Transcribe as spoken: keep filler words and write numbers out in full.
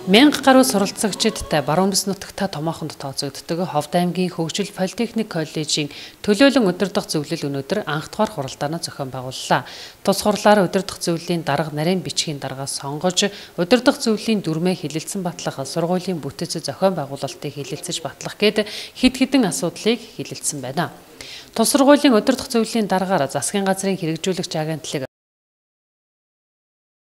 Мянга гаруй суралцагчидтай баруун бүс нутагта томоохонд тооцогддог Ховд аймгийн Хөгжил Политехник коллежийн төлөөлөн өдөрдох зөвлөл өнөөдөр анх дахь хуралдаанаа зохион байгууллаа. Тус хурлаар өдөрдох зөвлөлийн дарга нарийн бичгийн даргаас сонгож, өдөрдох зөвлөлийн дүрмээ хилэлцэн батлах, сургуулийн бүтэц зохион байгуулалтыг хилэлцэж батлах гээд хэд хэдэн асуудлыг хилэлцсэн байна. Тус сургуулийн өдөрдох зөвлөлийн даргаар засгийн газрын хэрэгжүүлэгч агентлаг